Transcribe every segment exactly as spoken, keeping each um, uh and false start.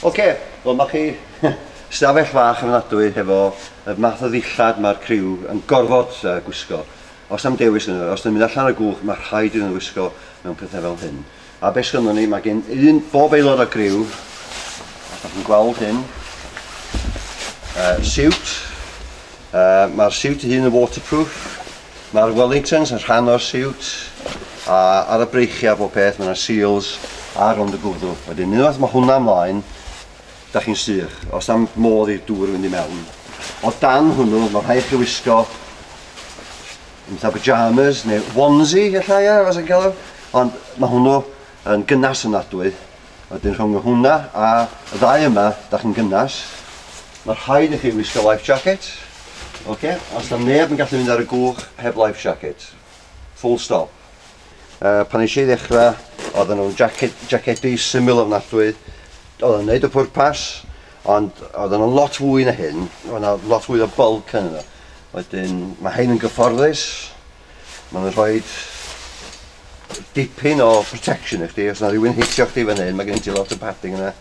Oce, wel mae chi stafell fach ofnadwy hefo y math o ddillad mae'r criw yn gorfod uh, gwisgo. Os am dewis yn os yn mynd allan o'r gwch, mae rhaid iddyn nhw wisgo mewn pethau fel hyn. A beth sgynnon ni, mae gen un bob aelod o griw, os ydych chi'n gweld hyn, uh, siwt, uh, mae'r siwt ei hun yn waterproof, mae'r Wellingtons yn rhan o'r siwt, a ar y breichiau bob peth, mae yna seals ar rownd y gwddw. Wedyn, unwaith mae hwnna ymlaen, da chi'n sych, os am modd i'r dŵr fynd i mewn. O dan hwnnw, mae rhaid chi wisgo fatha pyjamas neu onesie, ella ia, fas yn cael o. Ond mae hwnnw yn gynnas ofnadwy. Wedyn rhwng hwnna a y ddau yma, da chi'n gynnas. Mae rhaid i chi wisgo life jacket. Okay? Os na neb yn gallu mynd ar y gwch heb life jacket. Full stop. Uh, pan eisiau i ddechrau, oedden nhw'n jacket, jacedi syml ofnadwy. Oedden nhw'n neud y pwrpas, ond oedden nhw'n lot fwy na hyn. Oedd yna lot fwy o bulk yn yno. Wedyn, mae hein yn gyfforddus. Maen nhw'n rhoi dipyn o protection i chdi. Os yna rhywun hitio chdi fan hyn, mae gen ti lot o padding yna.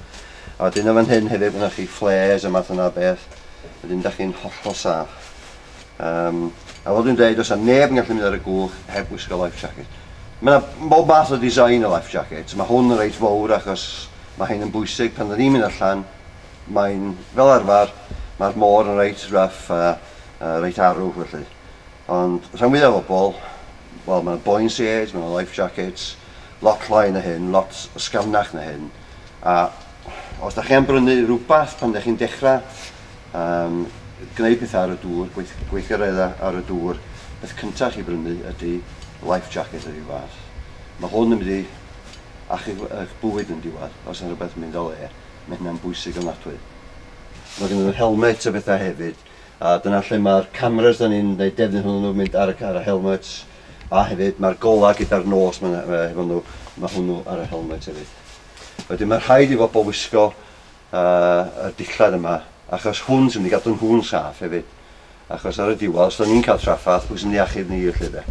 A wedyn o fan hyn hefyd, mae chi flares a math yna beth. Wedyn, da chi'n hollol saff. Um, a fel dwi'n dweud, os yna neb yn gallu mynd ar y gwch heb wisgo life jacket. Mae yna bob math o design o life jacket. Mae hwn yn reit fawr achos mae hyn yn bwysig pan dyn ni'n mynd allan. Mae'n, fel arfer, mae'r môr yn reit rough a, a reit arw felly. Ond rhan fwyaf o bobl, wel, mae'n buoyancy aids, mae'n life jackets, lot llai na hyn, lot ysgafnach na hyn. A os da chi am brynu rhywbeth pan da chi'n dechrau um, gwneud pethau ar y dŵr, gweith, gweithgareddau ar y dŵr, beth cyntaf chi brynu ydy life jacket o ryw fath. Mae hwn yn mynd i achub eich bywyd yn diwedd, os yna rhywbeth yn mynd o le, mae hynna'n bwysig ofnadwy. Mae gen nhw helmet a bethau hefyd, a dyna lle mae'r cameras da ni'n gwneud defnydd hwnnw nhw'n mynd ar y, ar y helmets, a hefyd mae'r gola gyda'r nos ma, efo nhw, mae hwnnw ar y helmet hefyd. Wedyn mae rhaid i bobl wisgo uh, y dillad yma, achos hwn sy'n mynd i gadw nhw'n saff hefyd. Achos ar y diwedd, os da ni'n cael traffath, pwy sy'n mynd i achub ni felly de.